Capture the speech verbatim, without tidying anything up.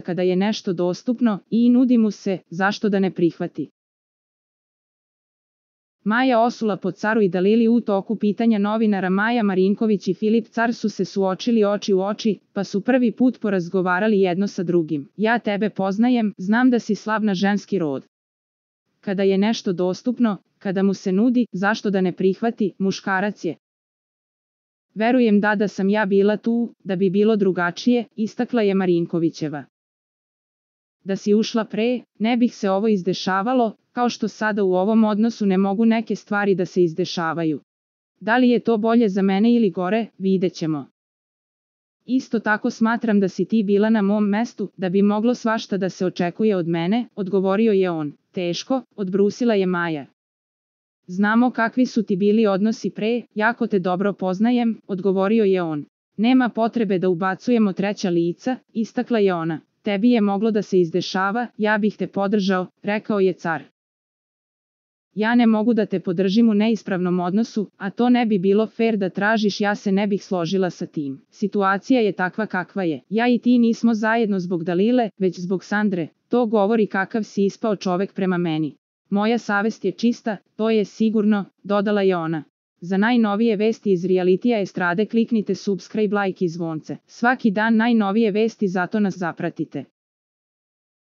kada je nešto dostupno i nudi mu se, zašto da ne prihvati. Maja Osula po Caru i Dalili. U toku pitanja novinara Maja Marinković i Filip Car su se suočili oči u oči, pa su prvi put porazgovarali jedno sa drugim. Ja tebe poznajem, znam da si slab na ženski rod. Kada je nešto dostupno, kada mu se nudi, zašto da ne prihvati, muškarac je. Verujem da da sam ja bila tu, da bi bilo drugačije, istakla je Marinkovićeva. Da si ušla pre, ne bih se ovo izdešavalo, kao što sada u ovom odnosu ne mogu neke stvari da se izdešavaju. Da li je to bolje za mene ili gore, vidjet ćemo. Isto tako smatram da si ti bila na mom mestu, da bi moglo svašta da se očekuje od mene, odgovorio je on. Teško, odbrusila je Maja. Znamo kakvi su ti bili odnosi pre, jako te dobro poznajem, odgovorio je on. Nema potrebe da ubacujemo treća lica, istakla je ona. Tebi je moglo da se izdešava, ja bih te podržao, rekao je Car. Ja ne mogu da te podržim u neispravnom odnosu, a to ne bi bilo fer da tražiš, ja se ne bih složila sa tim. Situacija je takva kakva je. Ja i ti nismo zajedno zbog Dalile, već zbog Sandre. To govori kakav si ispao čovek prema meni. Moja savest je čista, to je sigurno, dodala je ona. Za najnovije vesti iz realitija estrade kliknite subscribe, like i zvonce. Svaki dan najnovije vesti, zato nas zapratite.